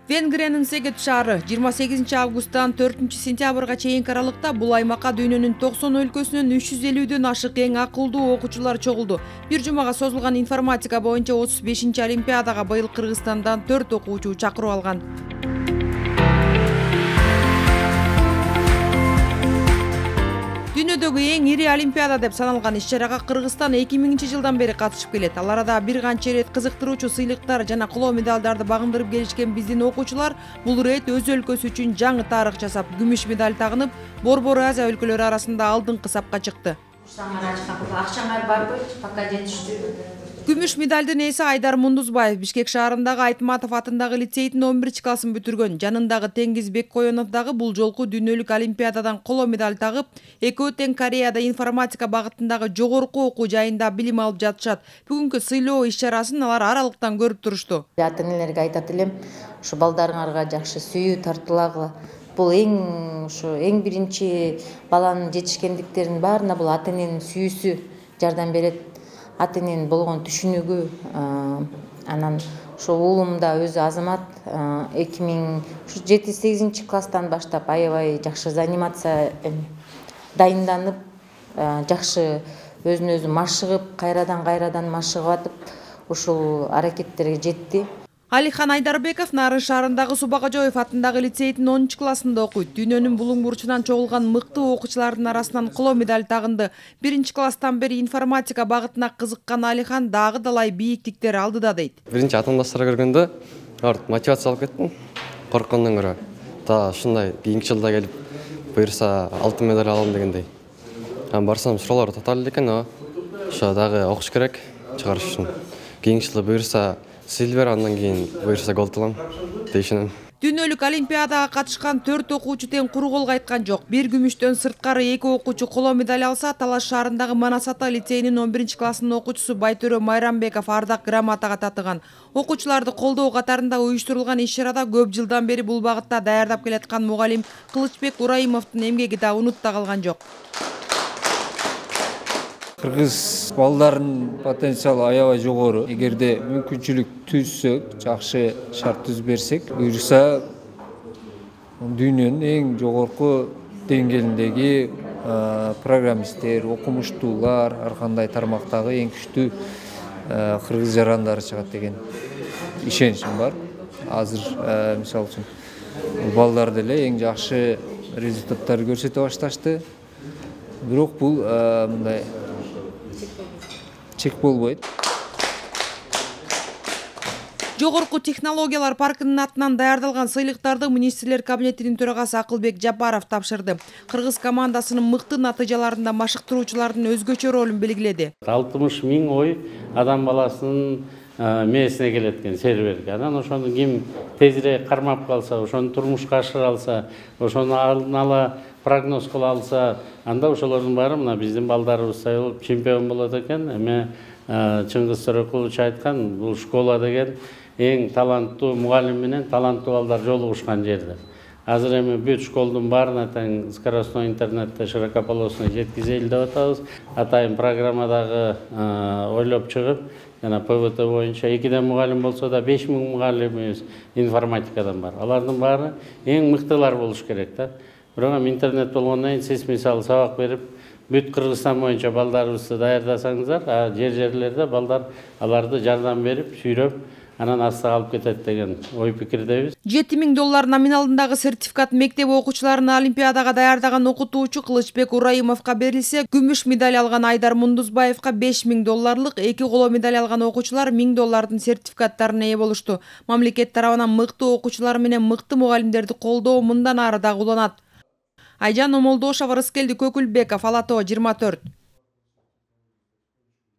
Венгриянын Сегет шаары 28 августтан 4 сентябрга чейинки аралыкта бул аймакка дүйнөнүн 90 өлкөсүнөн 350ден ашык эң акылдуу окуучулар чогулду. Бир жумага созулган информатика боюнча 35-олимпиадага быйыл Кыргызстандан 4 окуучу чакырып алган. Дүйнөдөгү эң ири олимпиада деп саналган иш-чарага Кыргызстан 2000-жылдан бери катышып келет. Ал арада бир канча ирет кызыктыруучу сыйлыктар жана коло медалдарды багындырып келишкен биздин окуучулар бул ирет өз өлкөсү үчүн жаңы тарых жасап, күмүш медаль тагынып, Борбор Азия өлкөлөрү арасында алдыңкы сапка чыкты. Акчаңар барбы? Пока жетиштүү. Күмүш медалдын ээси Айдар Мундузбаев Бишкек шаарындагы Айтматов атындагы лицейдин 11-классын бүтүргөн. Жанындагы Теңиз Беккоенов дагы бул жолку дүйнөлүк олимпиададан коло медаль тагып, экөө тең Кореяда информатика багытындагы жогорку окуу жайында билим алып жатышат. Бүгүнкү сыйлоо иш-чарасын алар аралыктан көрүп турушту. Ата-энелерге айтат элем, ушу балдарыңарга жакшы сүйүү тартуулагыла. Бул эң биринчи баланын жетишкендиктеринин баарына бул ата-эненин сүйүүсү жардам берет. Ата-эненин болгон түшүнүгү, анан ошо уулум да өзү Азамат 7-8 класстан баштап аябай жакшы занимация дайынданып, жакшы өзүн өзү машыгып, кайрадан машыгып атып, ушул аракеттерге жетти. Алихан Айдарбеков Нарын шаарындагы Субагажоев атындагы лицейдин 10-классында окуйт. Дүйнөнүн булуң бурчунан чогулган мыктуу окуучулардын арасынан коло медаль тагынды. 1-класстан бери информатика багытына кызыккан Алихан дагы далай бийиктиктер алдыда дейт. Биринчи атамдаштарга көргөндө мотивация алып кеттим, корккондон көрө. Ушундай кийинки жылда келип, буюрса алтын медаль алам дегендей. Барсам суроолор татаал экен, ошо дагы окуш керек чыгарыш үчүн. Кийинки жылда буюрса Сильвер, андан кийин буюрса голд алам дейшинем. Дүйнөлүк олимпиадага катышкан 4 окуучу тең куру кол кайткан жок. Бир күмүштөн сырткары 2 окуучу коло медаль алса, Талаш шаарындагы Манас ата лицейинин 11-классынын окуучусу Байтөрө Майрамбеков ардак грамотага татыган. Окуучуларды колдоо катарында уюштурулган иш-чарада көп жылдан бери бул багытта даярдап келаткан мугалим Кылычбек Ураимовдун эмгеги да унутта калган жок. Кыргыз балдарынын потенциалы аябай жогору. Эгерде мүмкүнчүлүк түзсөк, жакшы шарт түзүп берсек, буюрса дүйнөнүн эң жогорку деңгээлиндеги программисттер, окумуштуулар, ар кандай тармактагы эң күчтүү кыргыз жарандары чыгат деген ишеничим бар. Азыр мисалы үчүн балдар деле эң жакшы результаттарды көрсөтө башташты. Бирок бул мындай чек болбойт. Жогорку технологиялар паркынын атынан даярдалган сыйлыктарды министрлер кабинетинин төрагасы Акылбек Жапаров тапшырды. Кыргыз командасынын мыкты натыйжаларында машыктыруучулардын өзгөчө ролун белгиледи. 60 000 ой адам баласынын мээсине келет экен серверге. Анан ошону ким тезирээк кармап калса, ошону турмушка ашыра алса, ошону алдын ала прогноз кыла алса, анда ошолордун баары мына биздин балдарыбыз болуп чемпион болот экен. Эме Чыңгыз Төрөкулович айткан, бул школа деген эң таланттуу мугалим менен таланттуу балдар жолугушкан жердер. Азыр эми бүт школдун баарына тең скоростной интернетте широкополосный жеткизели деп атабыз. Атайын программадагы ойлоп чыгып, жана ПВТ боюнча 2 мугалим болсо да 5000 мугалимибиз информатикадан бар. Алардын баары эң мыктылар болуш керек да. Бирок интернет болгондон кийин сиз мисалы сабак берип, бүт Кыргызстан боюнча балдарыбызды даярдасаңыздар, жерлерде балдар аларды жардам берип, сүйрөп, анан астыга алып кетет деген ой пикирдебиз. $7000 номиналындагы сертификат мектеп окуучуларын олимпиадага даярдаган окутуучу Кылычбек Ураимовго берилсе, күмүш медаль алган Айдар Мундузбаевга $5000, 2 коло медаль алган окуучулар $1000 сертификаттарына ээ болушту. Мамлекет тарабынан мыкты окуучулар менен мыкты мугалимдерди колдоо мындан ары дагы уланат. Айжан Омолдошова, Рыскелди Көкүлбеков, Ала Тоо 24.